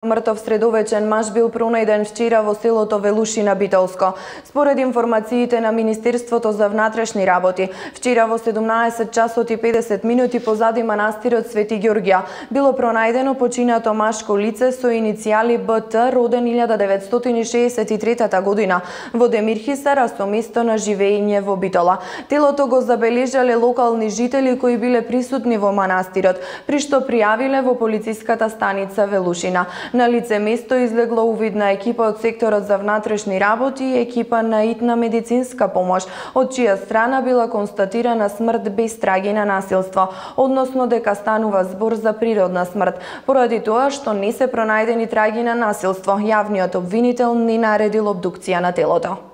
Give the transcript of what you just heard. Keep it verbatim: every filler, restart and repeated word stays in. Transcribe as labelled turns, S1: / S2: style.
S1: Мртов средовечен маж бил пронајден вчера во селото Велушина, Битолско. Според информациите на Министерството за внатрешни работи, вчера во седумнаесет часот и педесет минути позади манастирот Свети Ѓорѓа било пронајдено починато машко лице со иницијали Б Т, роден илјада деветстотини шеесет и трета година во Демирхисар, а со место на живење во Битола. Телото го забележале локални жители кои биле присутни во манастирот, при што пријавиле во полициската станица Велушина. На лице место излегла увидна екипа од секторот за внатрешни работи и екипа на итна медицинска помош, од чија страна била констатирана смрт без траги на насилство, односно дека станува збор за природна смрт. Поради тоа што не се пронајдени траги на насилство, јавниот обвинител не наредил обдукција на телото.